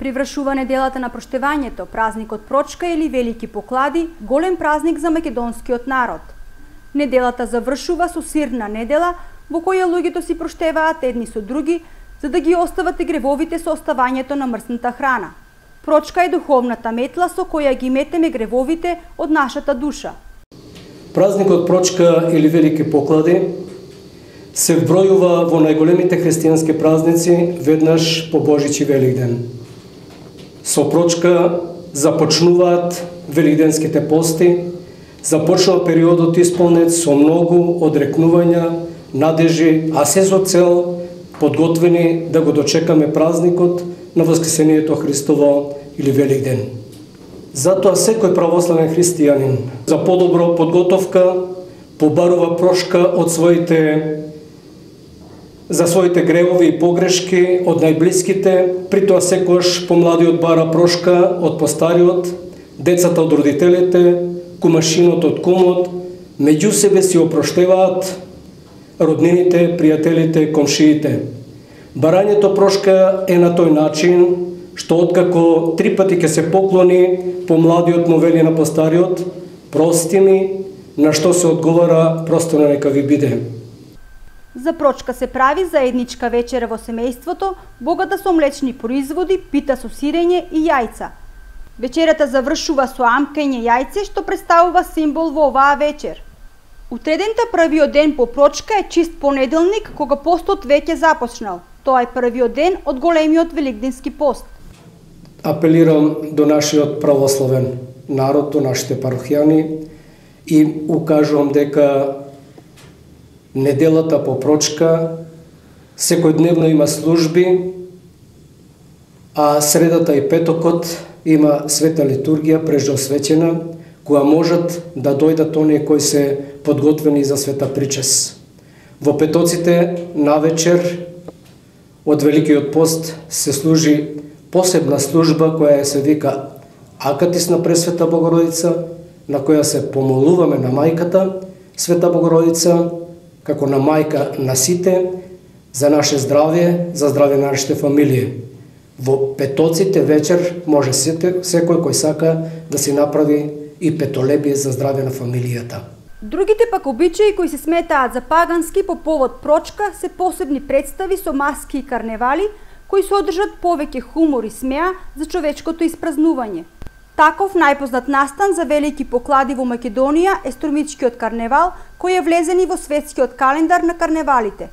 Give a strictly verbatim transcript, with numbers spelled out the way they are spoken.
При вршување неделата на проштевањето, празникот Прочка или Велики поклади, голем празник за македонскиот народ. Неделата завршува со сирна недела, во која луѓето си проштеваат едни со други, за да ги остават гревовите со оставањето на мрсната храна. Прочка е духовната метла со која ги метеме гревовите од нашата душа. Празникот Прочка или Велики поклади се вбројува во најголемите христијански празници веднаш по Божич и Великден. Со Прочка започнуваат великденските пости, започнува периодот исполнет со многу одрекнувања, надежи, а се со цел подготвени да го дочекаме празникот на Воскресението Христово или Великден. Затоа секој православен христијанин за подобро подготовка побарува прошка од своите за своите гревови и погрешки од најблиските, при тоа секојаш помладиот бара прошка од постариот, децата од родителите, кумашинот од кумот, меѓу себе си опроштеваат роднините, пријателите, комшиите. Барањето прошка е на тој начин што откако три пати ќе се поклони помладиот му вели на постариот, прости ми, на што се одговара просто на нека ви биде. За Прочка се прави заедничка вечера во семејството, богата со млечни производи, пита со сирење и јајца. Вечерата завршува со амкање јајце, што представува символ во оваа вечер. Утредента првиот ден по Прочка е чист понеделник, кога постот веќе започнал. Тоа е првиот ден од големиот великденски пост. Апелирам до нашиот православен народ, до нашите парохијани и укажувам дека неделата по Прочка секојдневно има служби, а средата и петокот има света литургија прежосвечена, која можат да дојдат оние кои се подготвени за света причес. Во петоците навечер од Великиот пост се служи посебна служба која се вика Акатис на Пресвета Богородица, на која се помолуваме на мајката Света Богородица, како на мајка на сите, за наше здравје, за здравје на нашите фамилии. Во петоците вечер може секој кој сака да си направи и петолебие за здравје на фамилијата. Другите пак обичаи кои се сметаат за пагански по повод Прочка се посебни представи со маски и карневали, кои содржат повеќе хумор и смеа за човечкото испразнување. Таков најпознат настан за Велики поклади во Македонија е Струмичкиот карневал, кој е влезен и во светскиот календар на карневалите.